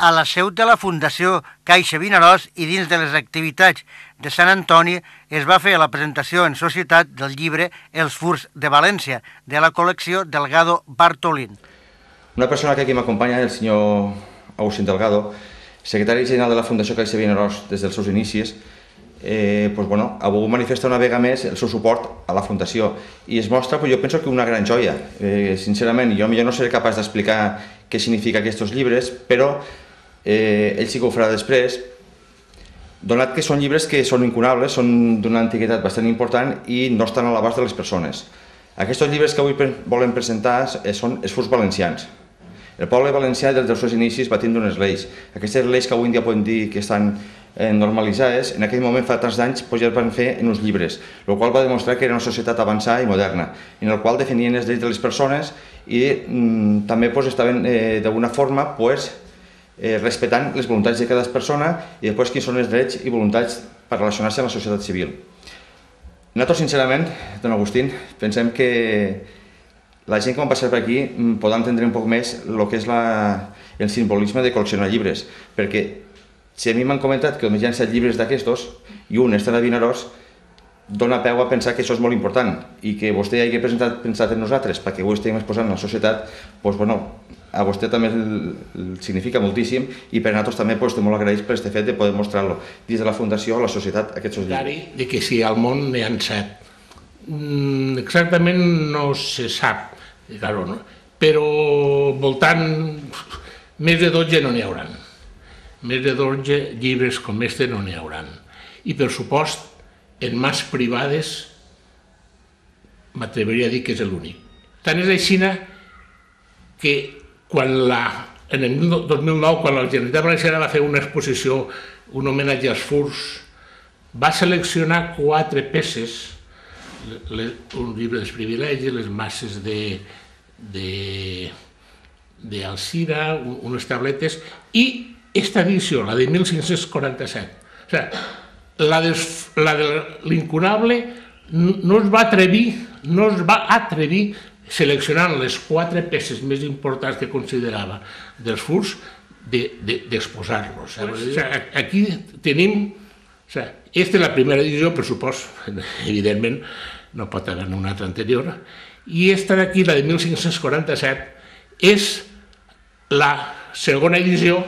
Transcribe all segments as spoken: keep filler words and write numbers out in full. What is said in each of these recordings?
a la seu de la Fundació Caixa Vinaròs i dins de les activitats de Sant Antoni es va fer la presentació en societat del llibre Els furs de València, de la col·lecció Delgado Bartolín. Una persona que aquí m'acompanya, el senyor Agustín Delgado, secretari general de la Fundació Caixa Vinaròs des dels seus inicis, eh, pues, bueno, ha volgut manifestar una vegada més el seu suport a la Fundació i es mostra, pues, jo penso que una gran joia. Eh, sincerament, jo millor no seré capaç d'explicar què significa aquests llibres, però eh, ell sí que ho farà després, donat que són llibres que són incunables, són d'una antiguitat bastant important i no estan a l'abast de les persones. Aquests llibres que avui volem presentar són els furs valencians. El poble valencià des dels seus inicis va tindre unes lleis. Aquestes lleis que avui en dia podem dir que estan normalitzades, en aquell moment fa tants anys ja es van fer en uns llibres, el qual va demostrar que era una societat avançada i moderna, en el qual definien els drets de les persones i també estaven d'alguna forma respectant les voluntats de cada persona i després quins són els drets i voluntats per relacionar-se amb la societat civil. Nosaltres, sincerament, don Agustín, pensem que la gent que va passar per aquí podrà entendre un poc més el que és el simbolisme de col·leccionar llibres, perquè si a mi m'han comentat que només hi ha set llibres d'aquestos i un està a Vinaròs, dona peu a pensar que això és molt important i que vostè hagi pensat en nosaltres perquè avui estem exposant a la societat, doncs, bueno, a vostè també el significa moltíssim i per a nosaltres també estem molt agraïts per aquest fet de poder mostrar-lo dins de la Fundació a la societat aquests llibres. De que si al món n'hi ha set. Exactament no se sap, però voltant més de dotze no n'hi haurà. Més de dotze llibres com este no n'hi haurà. I per supost, en mans privades, m'atreviria a dir que és l'únic. Tant és així que quan en el dos mil nou, quan la Generalitat Valenciana va fer una exposició, un homenatge als furs, va seleccionar quatre peces, un llibre dels privilegis, les masses d'Alzira, unes tabletes, i aquesta edició, la de mil cinc-cents quaranta-set, o sigui, la de l'incunable no es va atrevir, no es va atrevir seleccionant les quatre peces més importants que considerava dels furs d'exposar-los. Aquí tenim, aquesta és la primera edició, per supost, evidentment, no pot haver una altra anterior, i aquesta d'aquí, la de mil cinc-cents quaranta-set, és la segona edició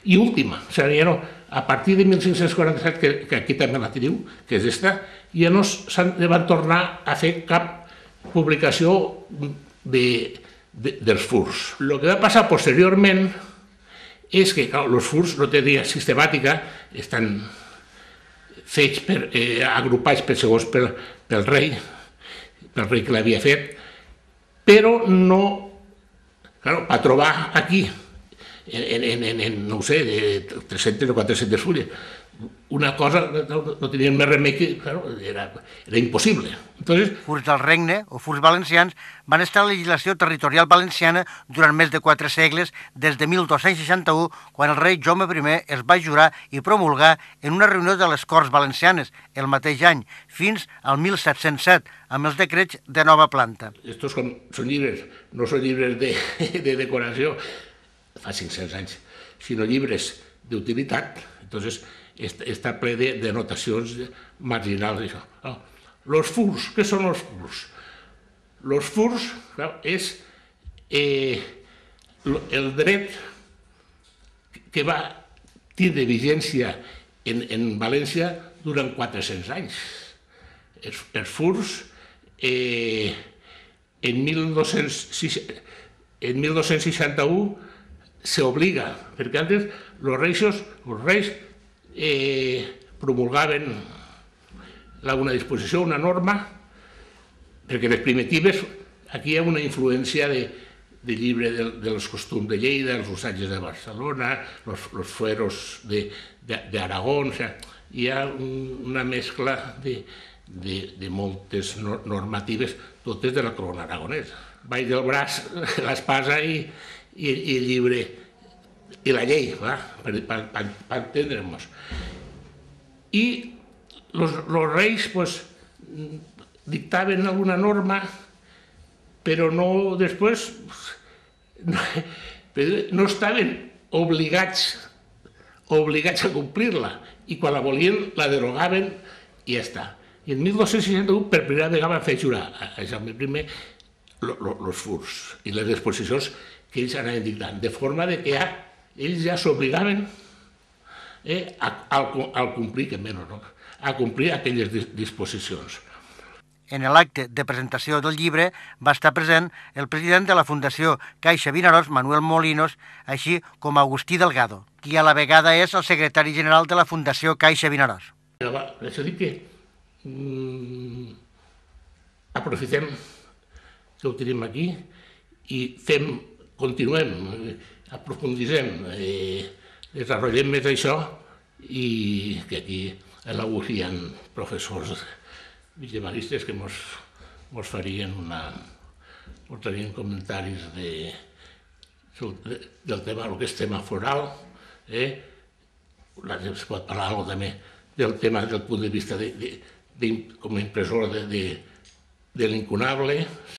i última. O sigui, ja no, a partir de mil cinc-cents quaranta-set, que aquí també la teniu, que és aquesta, ja no s'han de tornar a fer cap publicació dels furs. El que va passar posteriorment és que els furs no tenen sistemàtica, estan fets, agrupats per segons pel rei, pel rei que l'havia fet, però no, per trobar aquí, en, no ho sé, de tres-centes o quatre-centes fulles. Una cosa no tenien més remei que, era impossible. Furs del regne, o furs valencians, van estar a la legislació territorial valenciana durant més de quatre segles, des de mil dos-cents seixanta-u, quan el rei Jaume primer es va jurar i promulgar en una reunió de les Corts Valencianes el mateix any, fins al mil set-cents set, amb els decrets de nova planta. Estos són llibres, no són llibres de decoració, fa cinc-cents anys, sinó llibres d'utilitat. Entonces, està ple de notacions marginals. Els furs, què són els furs? Els furs és el dret que va tindre vigència en València durant quatre-cents anys. Els furs, en mil dos-cents seixanta-u, s'obliga, perquè antes els reis promulgaven una disposició, una norma, perquè les primitives, aquí hi ha una influència de llibre dels costums de Lleida, els usatges de Barcelona, els fueros d'Aragó, hi ha una mescla de moltes normatives, totes de la corona aragonesa. Baix del braç, l'espasa i el llibre i la llei, per entendre'ns. I els reis dictaven alguna norma, però no després no estaven obligats, obligats a complir-la, i quan la volien la derogaven i ja està. I en mil dos-cents seixanta-u per primera vegada van fer jurar a Jaume primer els furs i les exposicions que ells anaven dictant, de forma que ja, ells ja s'obligaven eh, a, a, a complir, que menys, no? a complir aquelles disposicions. En l'acte de presentació del llibre va estar present el president de la Fundació Caixa Vinaròs, Manuel Molinos, així com Agustí Delgado, qui a la vegada és el secretari general de la Fundació Caixa Vinaròs. És a dir que mm, aprofitem que ho tenim aquí i fem, continuem, aprofunditzem, eh, desenvolupem més això i que aquí a l'Agustí hi ha professors vigemaristes que mos, mos farien una, mos farien comentaris de, del tema, el que és tema foral, eh? Es pot parlar també del tema del punt de vista de, de, de, com a impressor de, de, de l'incunable,